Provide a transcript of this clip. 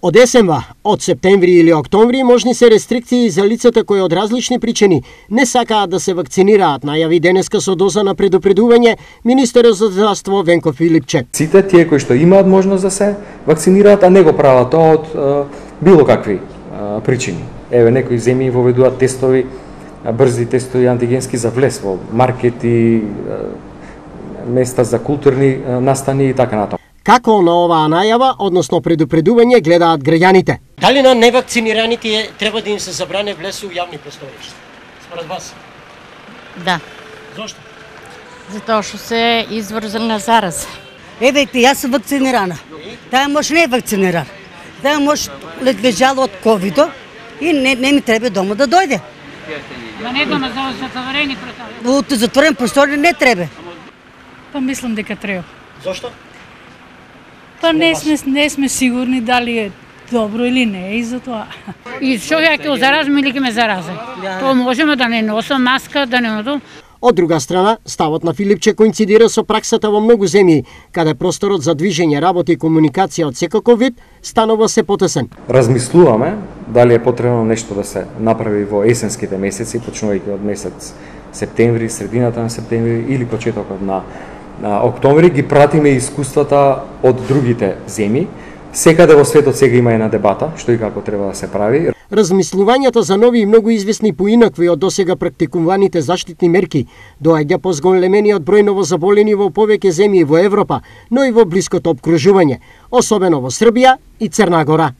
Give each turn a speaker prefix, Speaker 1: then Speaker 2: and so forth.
Speaker 1: Од есенва, од септември или октомври можни се рестрикции за лицата кои од различни причини не сакаат да се вакцинираат, најави денеска со доза на предупредување министерот за здравство Венко Филипче.
Speaker 2: Сите тие кои што имаат можност да се вакцинираат, а не го прават тоа од било какви причини. Еве некои земји воведуваат тестови, брзи тестови антигенски за влез во маркети, места за културни настани и така натаму.
Speaker 1: Како на оваа најава, односно предупредување, гледаат граѓаните? Дали на невакцинираните треба да им се забране влез у јавни простори? Според вас?
Speaker 3: Да.
Speaker 1: Зошто?
Speaker 3: Затоа што се изврзан на зараза.
Speaker 4: Еве, јас сум вакцинирана. Таа може не е вакциниран. Таа може лежала од ковидо и не ми треба дома да дојде.
Speaker 5: Ма не дома за затворени простори.
Speaker 4: Од затворен простори не треба.
Speaker 5: Па мислам дека треба.
Speaker 1: Зошто?
Speaker 5: Па не сме сигурни дали е добро или не е и за тоа. И што ја ќе заразам или ќе ме заразам. Тоа можеме да не носам маска, да не носам.
Speaker 1: Од друга страна, ставот на Филипче коинцидира со праксата во многу земји, каде просторот за движење, работа и комуникација од секаков вид станува се потесен.
Speaker 2: Размислуваме дали е потребно нешто да се направи во есенските месеци, почнувајќи од месец септември, средината на септември или почетокот на октомври. Ги пратиме искуствата од другите земји. Секаде во светот сега има една дебата што и како треба да се прави.
Speaker 1: Размислувањата за нови и многу известни поинакви од досега практикуваните заштитни мерки доаѓа по зголемениот број новозаболени во повеќе земји во Европа, но и во блиското опкружување, особено во Србија и Црна Гора.